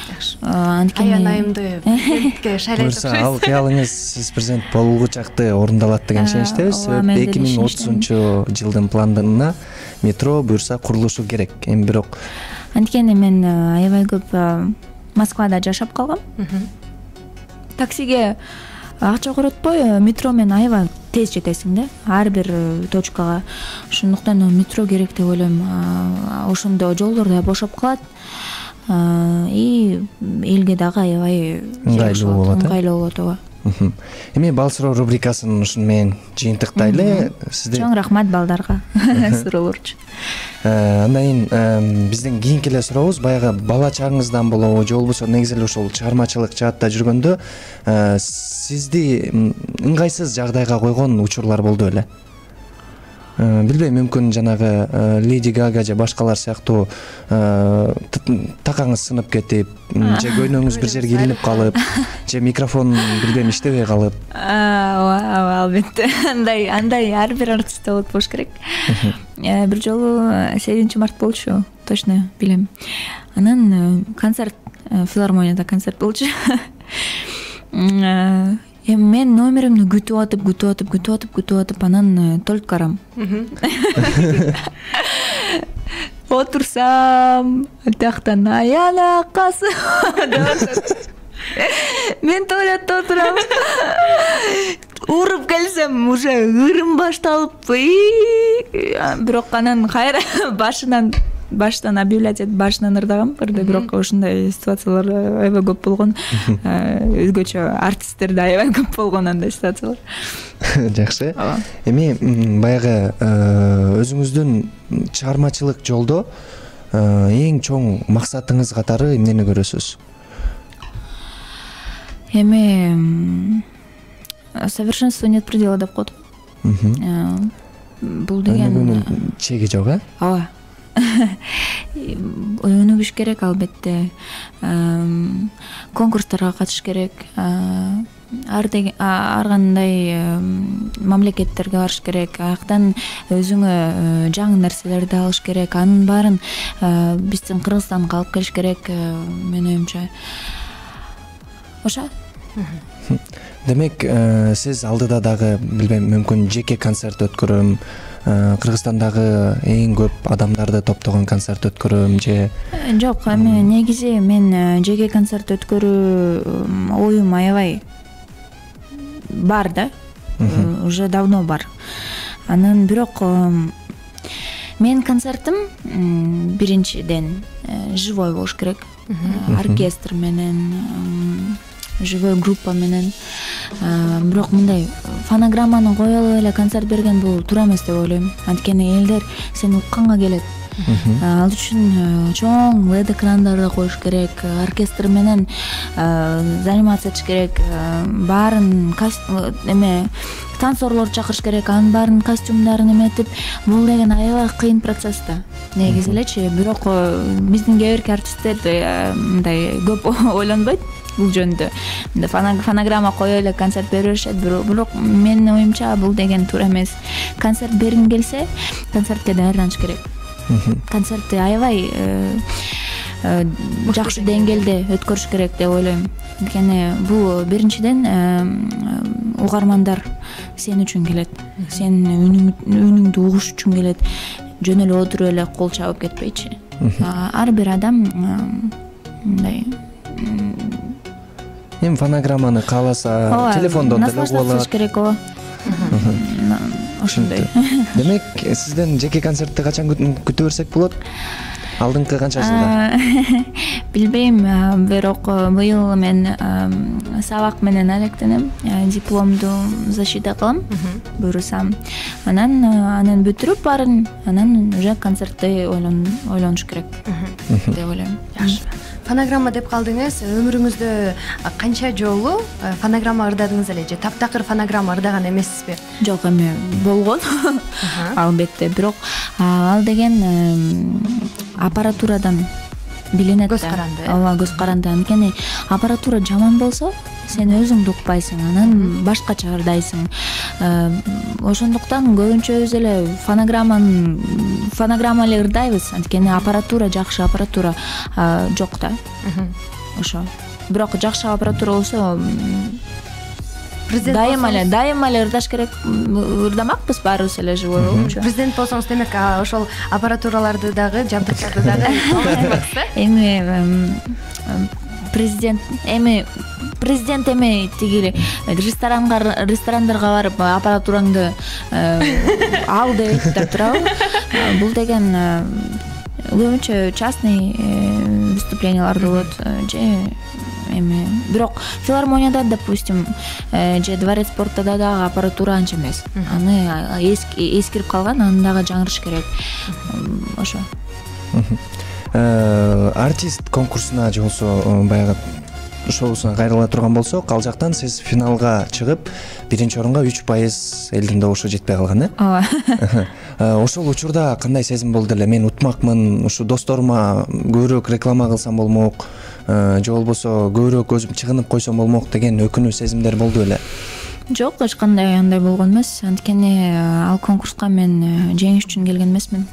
Жакшы. Анткени Аян айымды президентке шайлайтып Буюрса, ал кыялыңыз сиз президент болууга чакты орундалат деген ишеничтебиз. эки миң отузунчу жылдын планына метро буюрса курулушу керек. Эми бирок анткени мен аябай көп Москвада жашап калгам. Таксиге акча коротпой, метро менен аябай тез жетесиң да, ар бир точкага. Ошондуктан метро керек деп ойлойм. Ошондо жолдор да бошоп калат. И элге дагы аябай ыңгайлуу болот. Ыңгайлуу болот, ооба. Эми бал суроо рубрикасын ушуну менен жыйынтыктайлы. Сизде чоң рахмат балдарга суроолор үчүн. Андан кийин биздин кийинки эле сурообуз баягы бала чагыңыздан болобу же болбосо негизи эле ушул чыгармачылык жаатта жүргөндө сизди ыңгайсыз жагдайга койгон учурлар болду беле? Билбейм, мүмкүн жанагы Леди Гага же башкалар сыяктуу такаңыз сынып кетип, же көйнөңүз бир жерге илинип калып, же микрофон билбейм иштебей калып. Ооба, албетте. Андай, андай ар бир артистте болот болуш керек. Бир жолу сегизинчи март болчу. точно билем. Анан концерт, филармонияда концерт болчу. Эми мен номеримди күтүп атып, күтүп атып, күтүп атып, күтүп атып, анан толуп карам. Отурсам, тактан аянакасы. Мен туалетте отурам. Уруп келсем, уже ырым башталып, бирок анан кайра башынан баштан объявлять этип башынан ырдагам. Бирде бирок ошондой ситуациялар аябай көп болгон. Өзгөчө артисттерде аябай көп болгон андай ситуациялар. Жакшы. Эми баягы өзүңүздүн чыгармачылык жолдо эң чоң максатыңыз катары эмнени көрөсүз? Эми совершенство нет предела деп коет. Бул деген чеги жок, э? Ооба. Өнүгүш керек албетте. Конкурстарга катышыш керек. Ар ар кандай мамлекеттерге барыш керек. Аяктан өзүңө жаңы нерселерди алыш керек. Анын баарын биздин Кыргызстанга алып келиш керек, менин оюмча. Ошо. Демек, сиз алдыда дагы билбейм, мүмкүн жеке концерт өткөрөм, Кыргызстандагы эң көп адамдарды топтогон концерт өткөрөм же? Жок, эми негизи мен жеке концерт өткөрүү оюм аябай бар да. Уже давно бар. Анан бирок менин концертим биринчиден живой болуш керек. Оркестр менен, живой группа менен. Бирок мындай фонограмманы коюп алып эле концерт берген бул туура эмес деп ойлойм. Анткени элдер сени укканга келет. Ал үчүн чоң лед экрандарды коюш керек, оркестр менен заниматься этиш керек, баарын эме танцорлор чакырыш керек, анын баарын костюмдарын эметип, бул деген аябай кыйын процесс да. Негизи элечи, бирок биздин кээ бирки артисттер мындай көп ойлонбойт бул жөнүндө. Фонограмма коюп эле концерт бере беришет, бирок менин оюмча бул деген туура эмес. Концерт бергиң келсе, концертке даярданыш керек. Концертти аябай жакшы деңгээлде өткөрүш керек деп ойлойм. Анткени бул биринчиден угармандар сен үчүн келет. Сен үнүңдү угуш үчүн келет. Жөн эле отуруп эле кол чабып кетпейчи. Ар бир адам мындай эми фонограмманы кааласа телефондон деле угуп алат керек. Ооба. Ошондой. Демек, сизден жеке концертти качан күтө берсек болот? Алдыңкы канча жылда? Билбейм, бирок быйыл мен сабак менен алектенем, дипломду защита кылам, буюрсам. Анан анан бүтүрүп баарын, анан уже концертти ойлонуш керек деп ойлойм. Жакшы. Фонограмма деп калдыңыз, өмүрүңүздө канча жолу фонограмма ырдадыңыз эле же таптакыр фонограмма ырдаган эмессизби? Жок, эми болгон. Албетте, бирок ал деген аппаратурадан билинет да. Көз каранды. Ооба, көз каранды. Анткени аппаратура жаман болсо, сен өзүңдү укпайсың, анан башкача ырдайсың. Ошондуктан көбүнчөбүз эле фонограмманы фонограмма эле ырдайбыз, анткени аппаратура жакшы аппаратура жок да. Ошо. Бирок жакшы аппаратура болсо дайыма эле дайыма эле ырдаш керек, ырдамакпыз баарыбыз эле живой болчу. Президент болсоңуз, демек ошол аппаратураларды дагы, жабдыктарды дагы аласыз да? Эми президент эми президент эми тиги ресторанга ресторандарга барып аппаратураңды ал деп айтып турабы? Бул деген көбүнчө частный выступлениялар болот же эми, бирок филармонияда, допустим, же дворец спорта дагы аппаратура анча эмес. Аны эскирип калган, аны дагы жаңырыш керек. Ошо. Артист конкурсуна же болсо баягы шоусуна кайрыла турган болсок, ал жактан сиз финалга чыгып, биринчи орунга үч пайыз элдин добушу жетпей калган, э? Ооба. Ошол учурда кандай сезим болду эле? Мен утмакмын, ушу досторума көбүрөөк реклама кылсам болмок, же болбосо көбүрөөк өзүм чыгынып койсом болмок деген өкүнүү сезимдер болду беле? Жок, эч кандай андай болгон эмес. Анткени ал конкурска мен жеңиш үчүн келген эмесмин.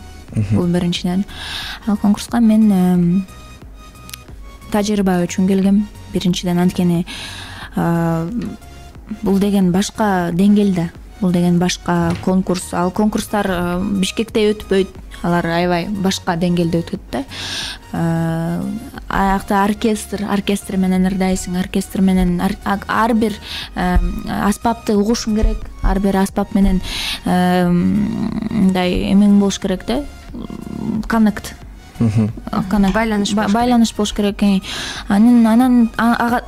бул биринчиден. Конкурска мен тажрыйба үчүн келгем биринчиден, анткени бул деген башка деңгээлде, бул деген башка конкурс. Ал конкурстар Бишкекте өтпөйт, алар аябай башка деңгээлде өтөт да. Аякта оркестр, оркестр менен ырдайсың, оркестр менен ар бир аспапты угушуң керек, ар бир аспап менен мындай эмең болуш керек да, коннект, байланыш байланыш болуш керек. Анан анан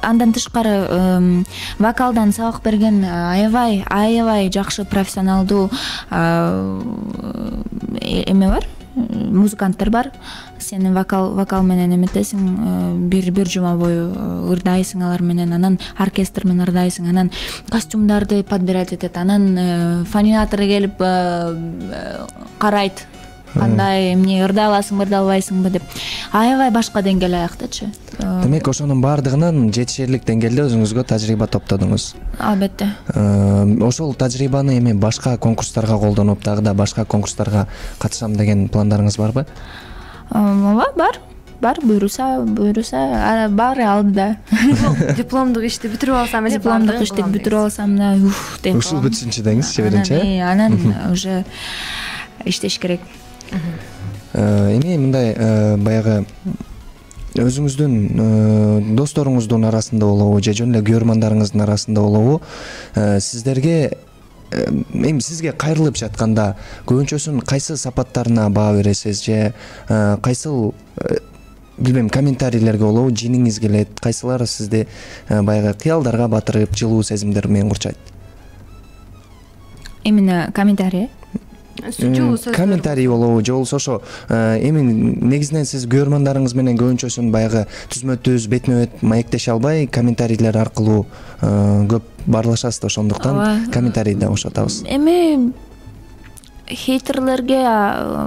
андан тышкары вокалдан сабак берген аябай аябай жакшы профессионалдуу эме бар, музыканттар бар. Сен вокал вокал менен эметесиң, бир бир жума бою ырдайсың алар менен, анан оркестр менен ырдайсың, анан костюмдарды подбирать этет, анан фонинатор келип карайт, кандай эмне ырдай аласыңбы, ырдай албайсыңбы деп. Аябай башка деңгээл аяктачы. Демек ошонун баардыгынан жетишерлик деңгээлде өзүңүзгө тажрыйба топтодуңуз. Албетте. Ошол тажрыйбаны эми башка конкурстарга колдонуп, дагы да башка конкурстарга катышам деген пландарыңыз барбы? Ооба, бар. Бар, буйруса, буйруса, баары алдыда. Дипломдук ишти бүтүрүп алсам эле, дипломдук ишти бүтүрүп алсам да, уф деп. Ушул бүтсүнчү деңизчи биринчи. Анан уже иштеш керек. Эми мындай баягы өзүңүздүн досторуңуздун арасында болобу же жөн эле көрөрмандарыңыздын арасында болобу, сиздерге эми сизге кайрылып жатканда көбүнчөсүн кайсы сапаттарына баа бересиз, же кайсыл билбейм комментарийлерге болобу жеңиңиз келет, кайсылары сизди баягы кыялдарга батырып, жылуу сезимдер менен курчайт? Именно комментарий комментарий болобу же болбосо ошо эми негизинен сиз көрөрмандарыңыз менен көбүнчөсүн баягы түзмө түз бетме бет маектеше албай комментарийлер аркылуу көп баарлашасыз да, ошондуктан комментарий да кошотабыз. Эми хейтерлерге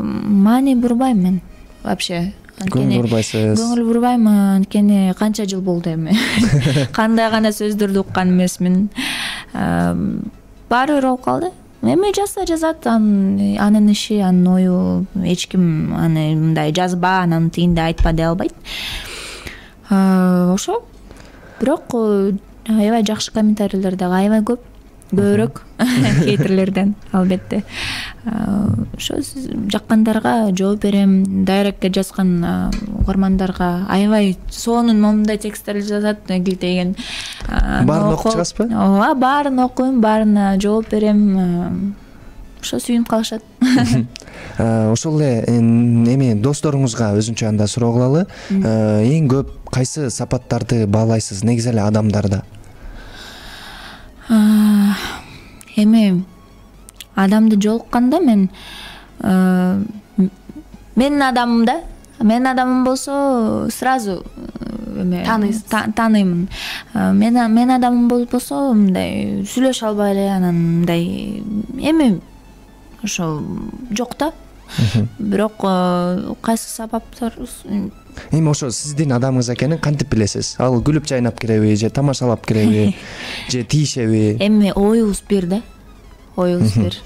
маани бурбайм мен вообще. Көңүл бурбайсыз? Көңүл бурбайм, анткени канча жыл болду эми. Кандай гана сөздөрдү уккан эмесмин. Баары бир болуп калды. Эми жазса жазат, анын иши, анын ою, эч ким аны мындай жазба, анан тигинде айтпа дей албайт. Ошо. Бирок аябай жакшы комментарийлер дагы аябай көп, көбүрөөк хейтерлерден, албетте. Ошо жаккандарга жооп берем, дайректке жазган угармандарга аябай сонун момундай тексттер жазат, килтеген. Баарын окуп чыгасызбы? Ооба, баарын окуйм, баарына жооп берем. Ошо сүйүнүп калышат. Ошол эле эми досторуңузга өзүнчө анда суроо кылалы. Эң көп кайсы сапаттарды баалайсыз негизи эле адамдарда? Эми адамды жолукканда мен менин адамым да, менин адамым болсо сразу эме тааныймын. Мен мен адамым болбосо мындай сүйлөшө албай эле, анан мындай эми ошо жок да. Бирок кайсы сабаптар эми ошо сиздин адамыңыз экенин кантип билесиз? Ал күлүп жайнап киреби, же тамашалап киреби, же тийишеби? Эми оюбуз бир да. Оюбуз бир.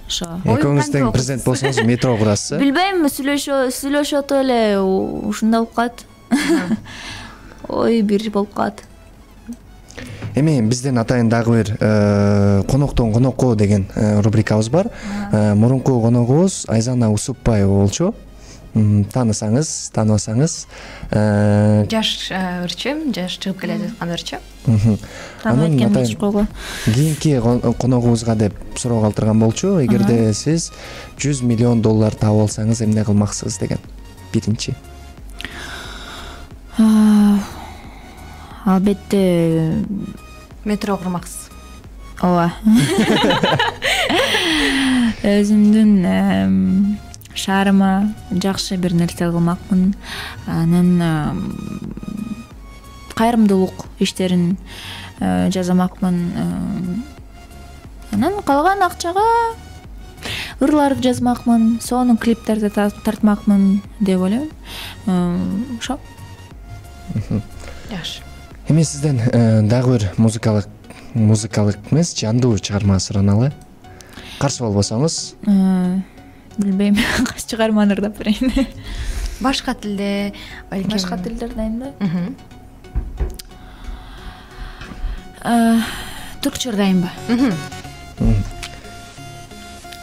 Ошо. Экөөңүз тең президент болсоңуз метро курасыз? Билбейм, сүйлөшө сүйлөшөт эле, ушундай болуп калат. Ой, бир болуп калат. Эми биздин атайын дагы бир коноктон конокко деген рубрикабыз бар. Мурунку коногубуз Айзана Усупбаева болчу. Таанысаңыз, тааныбасаңыз. Жаш ырчы, жаш чыгып келе жаткан ырчы. Тааныбайт экенмин чукого. Кийинки коногубузга деп суроо калтырган болчу. Эгерде сиз жүз миллион доллар таап алсаңыз эмне кылмаксыз деген. Биринчи. Албетте метро курмаксыз. Ооба. Өзүмдүн шаарыма жакшы бир нерсе кылмакмын. Анан кайрымдуулук иштерин жасамакмын. Анан калган акчага ырларды жазмакмын, сонун клиптерди тартмакмын деп ойлойм. Ошо. Жакшы. Эми сизден дагы бир музыкалык музыкалык эмес, жандуу чыгарма сураналы. Каршы болбосоңуз. билбейм. Кайсы чыгарманы ырдап берейин? Башка тилде, балким. Башка тилдер дайында? Түркчө ырдайынбы?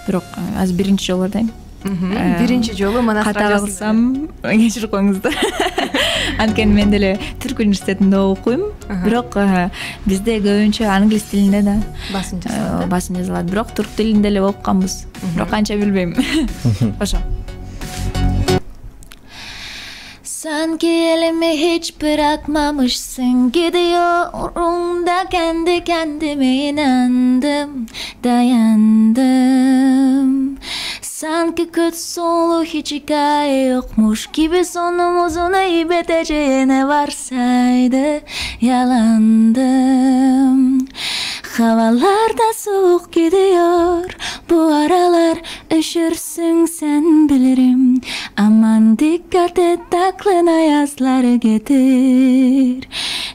Бирок азыр биринчи жолу ырдайм. Биринчи жолу мына ката кылсам кечирип коюңуздар. Анткени мен деле түрк университетинде окуйм, бирок бизде көбүнчө англис тилинде да басым жазылат. Басым жазылат, бирок түрк тилинде эле окуганбыз. Бирок канча билбейм. Ошо. Sanki elimi hiç bırakmamışsın, gidiyorum kendi kendime inandım, dayandım. Sanki kötü sonu hiç hikaye yokmuş gibi, sonumuzun iyi biteceğine varsaydı yalandım. Havalar da soğuk gidiyor, bu aralar üşürsün sen bilirim. Aman dikkat et, aklına yazları getir.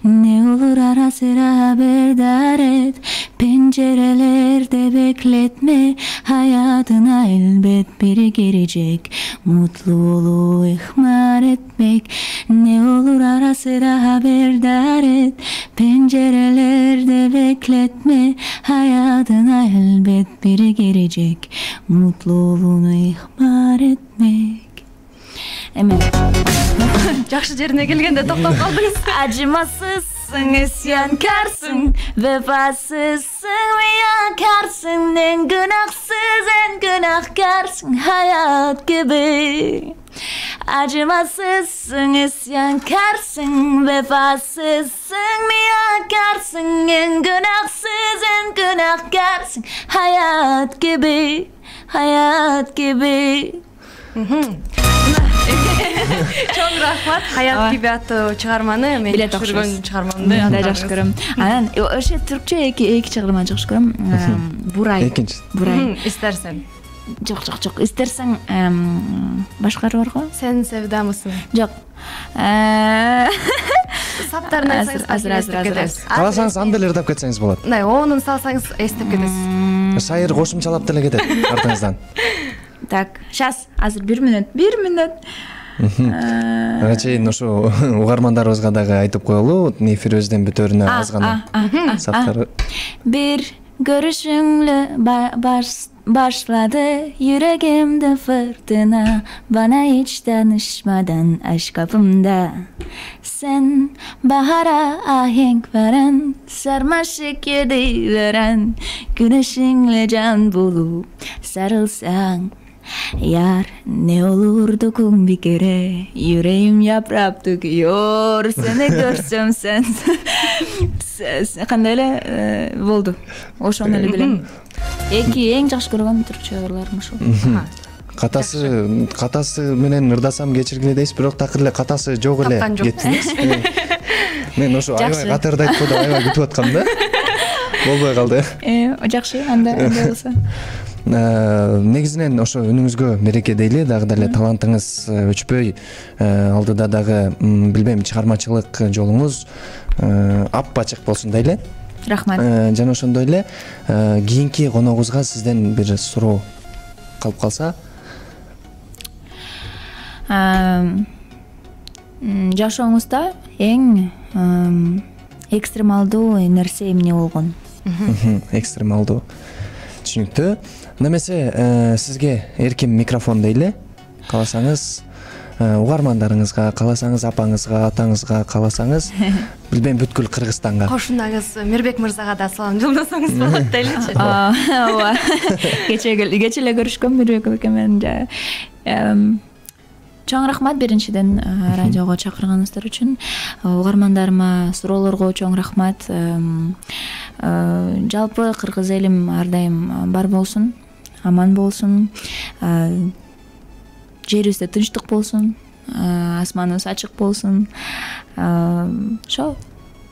Ne olur ara sıra haberdar et, pencerelerde bekletme. Hayatına elbet biri girecek, mutluluğu ihmal etmek. Ne olur ara sıra haberdar et, pencerelerde bekletme. Hayatına elbet biri girecek, mutluluğunu ihmal etmek. Emin. Жакшы жерине келгенде токтоп калдыңыз. Acımasızsın, isyankarsın, vefasızsın, riyakarsın. En günahsız, en günahkarsın hayat gibi. Acımasızsın, isyankarsın, vefasızsın, riyakarsın. En günahsız, en günahkarsın hayat gibi, hayat gibi. Чоң рахмат. Хаят gibi аттуу чыгарманы мен көргөн чыгармамды да жакшы көрөм. Анан ошо түркчө эки эки чыгарманы жакшы көрөм. Бурай. Экинчи. Бурай. Истерсең. Жок, жок, жок. Истерсең башкары бар го? Сен севдамысың? Жок. Саптарын айтсаңыз азыр азыр азыр. Кааласаңыз анда эле ырдап кетсеңиз болот. Мына онун салсаңыз эстеп кетесиз. Шайыр кошумчалап деле кетет артыңыздан. Так, сейчас азыр бир мүнөт, бир мүнөт. Ага чейин ошо угармандарыбызга дагы айтып коелу, эфирибиздин бүтөрүнө аз гана саптар. Bir görüşünle başladı yüreğimde fırtına, bana hiç danışmadan aşk kapımda. Sen bahara ahenk veren, sarmaşık yedi veren, güneşinle can bulup sarılsan. Yar ne olurdu kum bir kere, yüreğim yaprak döküyor, seni görsem sen. Kандай эле болду. Ошону эле билем. Эки эң жакшы көргөн түркчө ырларым ушул. Катасы катасы менен ырдасам кечиргиле дейсиз, бирок такыр эле катасы жок эле кеттиңиз. Мен ошо аябай катарды айтып койдум, аябай күтүп аткам да. Болбой калды. Э, жакшы, анда анда болсо. Негизинен ошо үнүңүзгө мереке дейли, дагы деле талантыңыз өчпөй, алдыда дагы билбейм чыгармачылык жолуңуз ап-ачык болсун дейли. Рахмат. Жана ошондой эле кийинки коногубузга сизден бир суроо калып калса. Жашооңузда эң экстремалдуу нерсе эмне болгон? Экстремалдуу. Түшүнүктүү. Немесе сизге эркин микрофон дейли. Кааласаңыз угармандарыңызга, кааласаңыз апаңызга, атаңызга, кааласаңыз билбейм бүткүл Кыргызстанга. Кошунагыз Мирбек мырзага да салам жолдосоңуз болот дейличи. Ооба. Кече кече эле көрүшкөм Мирбек экен менен. Чоң рахмат биринчиден радиого чакырганыңыздар үчүн. Угармандарыма, суроолорго чоң рахмат. Жалпы кыргыз элим ар дайым бар болсун, аман болсун. Жерибизде тынчтык болсун, асманыбыз ачык болсун. Ошо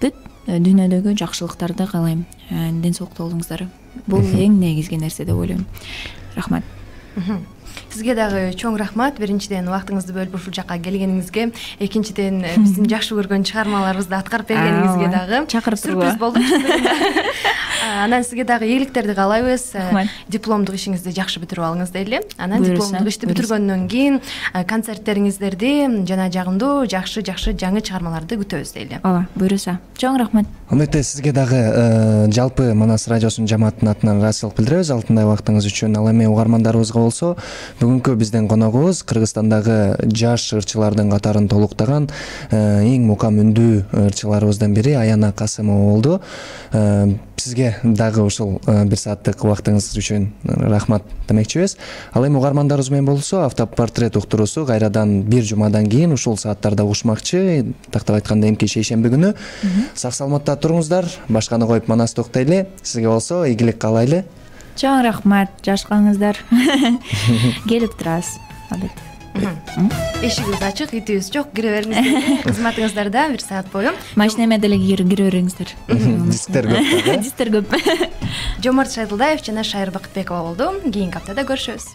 бүт дүйнөдөгү жакшылыктарды каалайм. Ден соолукта болуңуздар. Бул эң негизги нерсе деп ойлойм. Рахмат. Сизге дагы чоң рахмат. Биринчиден убактыңызды бөлүп ушул жакка келгениңизге, экинчиден биздин жакшы көргөн чыгармаларыбызды аткарып бергениңизге дагы чакырып сюрприз болду. Анан сизге дагы ийгиликтерди каалайбыз. Дипломдук ишиңизди жакшы бүтүрүп алыңыз дейли. Анан дипломдук ишти бүтүргөндөн кийин концерттериңиздерди жана жагымдуу жакшы жакшы жаңы чыгармаларды күтөбүз дейли. Ооба, буюрса. Чоң рахмат. Албетте сизге дагы жалпы Манас радиосунун жамаатынын атынан ыраазычылык билдиребиз алтындай убактыңыз үчүн. Ал эми угармандарыбызга болсо, бүгүнкү биздин коногубуз Кыргызстандагы жаш ырчылардын катарын толуктаган эң мукам үндүү ырчыларыбыздан бири Аяна Касымова болду. Сизге дагы ушул бир сааттык убактыңыз үчүн рахмат демекчибиз. Ал эми угармандарыбыз менен болсо, автопортрет уктуруусу кайрадан бир жумадан кийин ушул сааттарда угушмакчы. Тактап айтканда эмки шейшемби күнү. Сак саламатта туруңуздар. Башканы коюп Манас токтойлу. Сизге болсо ийгилик каалайлы. Чоң рахмат, жашкаңыздар. Келип турасыз. Албетте. Эшигибиз ачык, итибиз жок, кире бериңиздер. Кызматыңыздарда бир саат бою. Машинеме деле кире бериңиздер. Дисктер көп. Дисктер көп. Жомарт Шайдылдаев жана Шайыр Бакытбекова болду. Кийинки аптада көрүшөбүз.